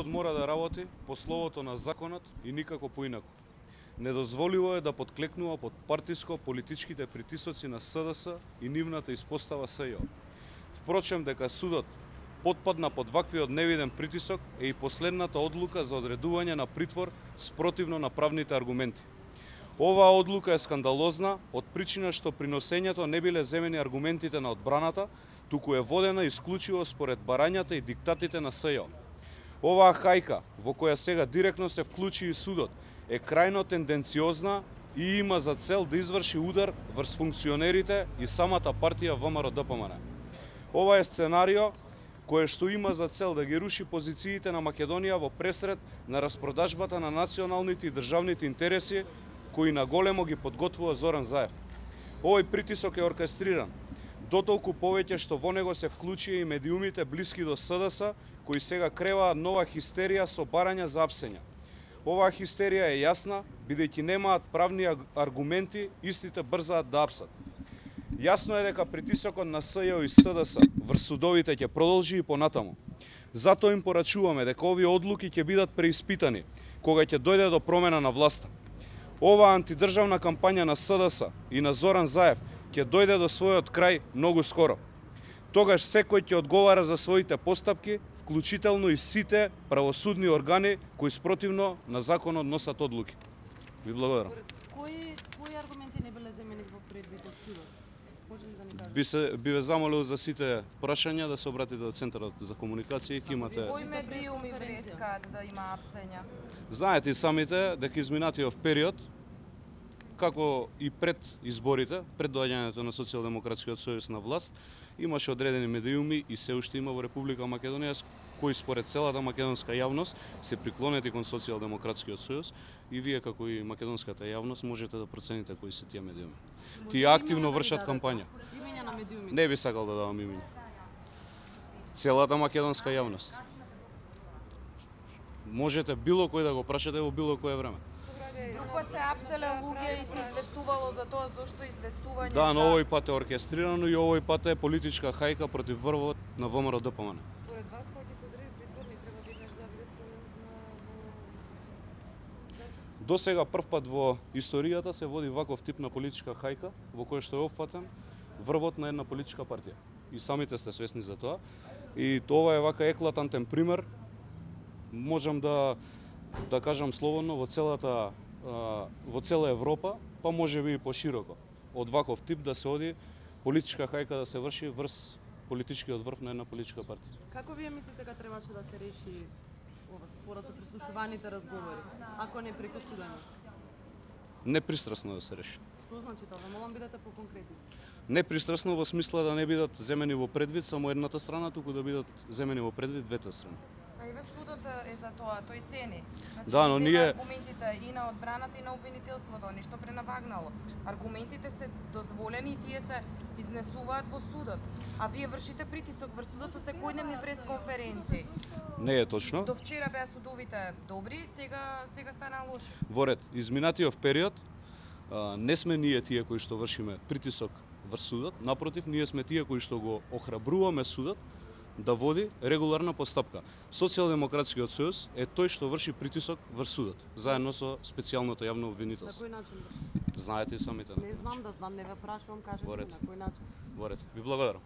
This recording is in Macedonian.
Судот мора да работи по словото на законот и никако поинаку. Недозволиво е да подклекнува под партиско-политичките притисоци на СДС и нивната испостава СЈО. Впрочем, дека судот потпадна под ваквиот невиден притисок е и последната одлука за одредување на притвор спротивно на правните аргументи. Оваа одлука е скандалозна од причина што при носењето не биле земени аргументите на одбраната, туку е водена исклучиво според барањата и диктатите на СЈО. Оваа хајка, во која сега директно се вклучи и судот, е крајно тенденциозна и има за цел да изврши удар врз функционерите и самата партија ВМРО-ДПМН. Ова е сценарио кое што има за цел да ги руши позициите на Македонија во пресред на распродажбата на националните и државните интереси кои наголемо ги подготвува Зоран Заев. Овој притисок е оркестриран, дотолку повеќе што во него се вклучија и медиумите блиски до СДС, кои сега креваат нова хистерија со барања за апсења. Оваа хистерија е јасна, бидејќи немаат правни аргументи, истите брзаат да апсат. Јасно е дека притисокот на СЈО и СДС врз судовите ќе продолжи и понатаму. Затоа им порачуваме дека овие одлуки ќе бидат преиспитани кога ќе дојде до промена на власта. Оваа антидржавна кампања на СДС и на Зоран Заев ќе дојде до својот крај многу скоро. Тогаш секој ќе одговара за своите постапки, вклучително и сите правосудни органи кои спротивно на законот носат одлуки. Ви благодарам. Кои аргументи не биле земени во предвид од судот? Може ли да ни кажете? Би ве замолил за сите прашања да се обратите до Центарот за комуникација, ќе имате. Кои медиуми врескаат да има апсења? Знаете и самите дека изминатиот период, како и пред изборите, пред доаѓањето на Социјалдемократскиот сојуз на власт, имаше одредени медиуми и се уште има во Република Македонија кои според целата македонска јавност се приклонети кон Социјалдемократскиот сојуз и вие како и македонската јавност можете да процените кои се тие медиуми. Тие активно вршат кампања. Имења на медиуми. Не би сакал да давам имења. Целата македонска јавност. Можете било кој да го прашате во било кое време. Друг се апселе луѓе и се известувало за тоа зошто известување. Да, но овој пат е оркестрирано и овој пат е политичка хајка против врвот на ВМРО-ДПМН. Според вас кој ќе се одреди притворник треба веднаш да биде спроведен на До сега прв пат во историјата се води ваков тип на политичка хајка во која што е опфатен врвот на една политичка партија. И самите сте свесни за тоа. И ова е вака еклатантен пример. Можам да кажам слободно во цела Европа, па можеби и пошироко. Од ваков тип да се оди политичка хајка да се врши врз политичкиот врв на една политичка партија. Како вие мислите дека требаше да се реши ова според со прислушуваните разговори, ако не преку судење? Непристрасно да се реши. Што значи тоа? Молам бидете поконкретни. Непристрасно во смисла да не бидат земени во предвид само едната страна, туку да бидат земени во предвид двете страни. А и ве судот е за тоа, тој цени. Значи, Да, но ние аргументите и на одбраната и на обвинителството, ништо пренавагнало. Аргументите се дозволени и тие се изнесуваат во судот. А вие вршите притисок врз судот со секојдневни пресконференции. не е точно. До вчера беа судовите добри, сега стана лоши. Во ред, изминатиот период не сме ние тие кои што вршиме притисок врз судот, напротив, ние сме тие кои што го охрабруваме судот да води регуларна постапка. Социјалдемократскиот сојуз е тој што врши притисок врз судот, заедно со специјалното јавно На обвинителство. кој начин? Знаете и самите. Не знам да знам, не ве прашувам, кажете Во ред. на кој начин. Во ред. Ви благодарам.